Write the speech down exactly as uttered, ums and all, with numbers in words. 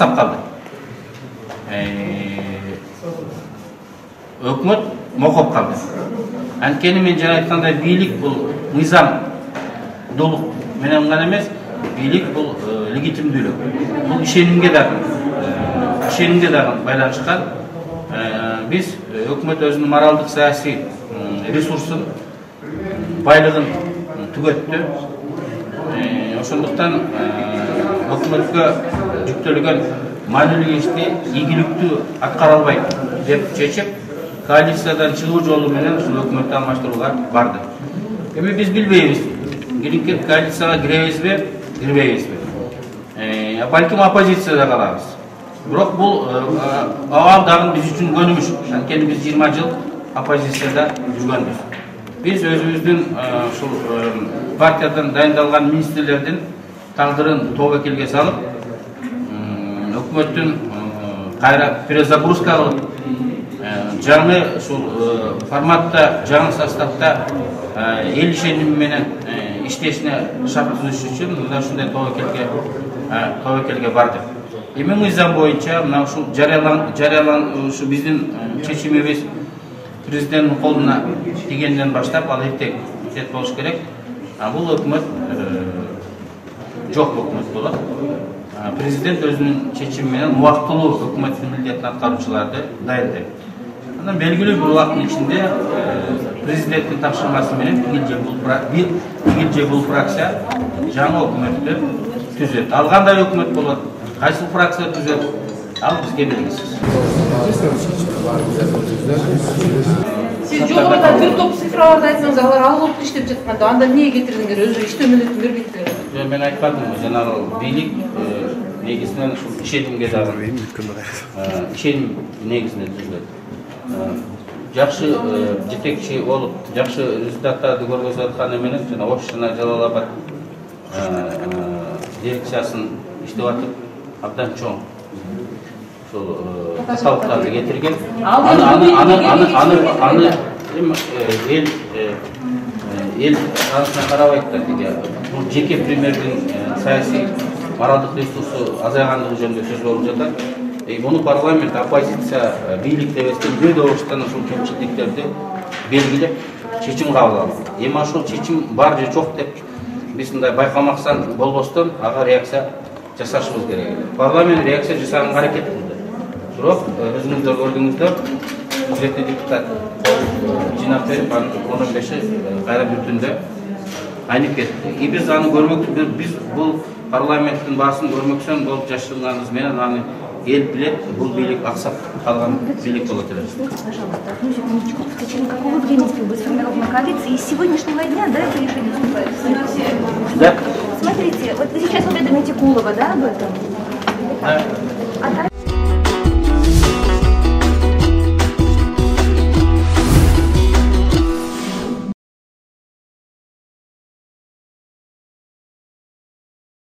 аксап калды. Өкмөт мокоп калды. Анткени мен жана айткандай бийлик бул мыйзамдуулук менен гана эмес, бийлик бул легитимдүүлүк. Бул ишенимге дагы, ишенимге дагы байланышкан. Биз өкмөт өзүнүн моралдык саясий ресурсун, байлыгын түгөттү. Ошондуктан өкмөткө жүктөлгөн маанилүү ишти ийгиликтүү аткара албайт деп чечип, коалициядан чыгуу жолу менен ушул өкмөттү алмаштырууга барды. Эми биз билбейбиз, кийинки коалицияга киребизби, кирбейбизби. Балким оппозицияда калабыз. Бирок бул абал дагы биз үчүн көнүмүш. Анткени биз жыйырма жыл оппозицияда жүргөнбүз. Биз өзүбүздүн ушул партиядан дайындалган министрлердин тагдырын тобокелге салып, өкмөттүн кайра перезагрузка кылып, жаңы ушул форматта, жаңы составда эл ишеними менен иштешине шарт түзүш үчүн мына ушундай тобокелге тобокелге бардык. Эми мыйзам боюнча мына ушул жарыялан жарыялан ушу биздин чечимибиз президенттин колуна тигенден баштап ал эртең тет болуш керек. Бул өкмөт жок өкмөт болот. Президент өзүнүн чечими менен убактылуу өкмөттүн милдетин аткаруучуларды дайындайт. Андан белгилүү бир убакыттын ичинде президенттин тапшырмасы менен бир игил же бул фракция жаңы өкмөттү түзөт. Ал кандай өкмөт болот? Кайсы фракция түзөт? Ал бизге белгисиз. Сиз жогоруда бир топ цифраларды айтсаңыз, алар ал болуп иштеп жатканда, анда эмне кетирдиңер? Өзү иштөө милдетин бербейт. Жок, мен айтпадым, жанагы бийлик негизинен ушул ишенимге дагы ишеним негизинде түзүлөт. Жакшы жетекчи болуп, жакшы результаттарды көргөзүп атканы менен жана Ош жана Жалал Абад дирекциясын иштеп атып, абдан чоң ушул каталыктарды кетирген. Аны аны аны аны аны эл эл арасына карабайт да, деге бул жеке премьердин саясий моралдык ресурсу азайгандыгы жөнүндө сөз болуп жатат. Муну парламент, оппозиция, бийлик дебестен бир добуштан ушул кемчиликтерди белгилеп чечим кабыл алды. Эми ошол чечим бар же жок деп биз мындай байкамаксан болбостон ага реакция жасашыбыз керек. Парламент реакция жасаганга аракет кылды. Бирок өзүңүздөр көрдүңүздөр, кудуреттүү депутат жыйнап берип, анын он беши кайра бир түндө айнып кетти. И биз аны көрмөк, биз бул парламенттин баасын көрмөксөн болуп жашырганыбыз менен аны эл билет, бул бийлик аксап калган бийлик болот эле. Пожалуйста, одну секундочку. В течение какого времени будет сформирована коалиция? И с сегодняшнего дня, да, это решение вступает? Да. Смотрите, вот вы сейчас уведомите Кулова, да, об этом? Да.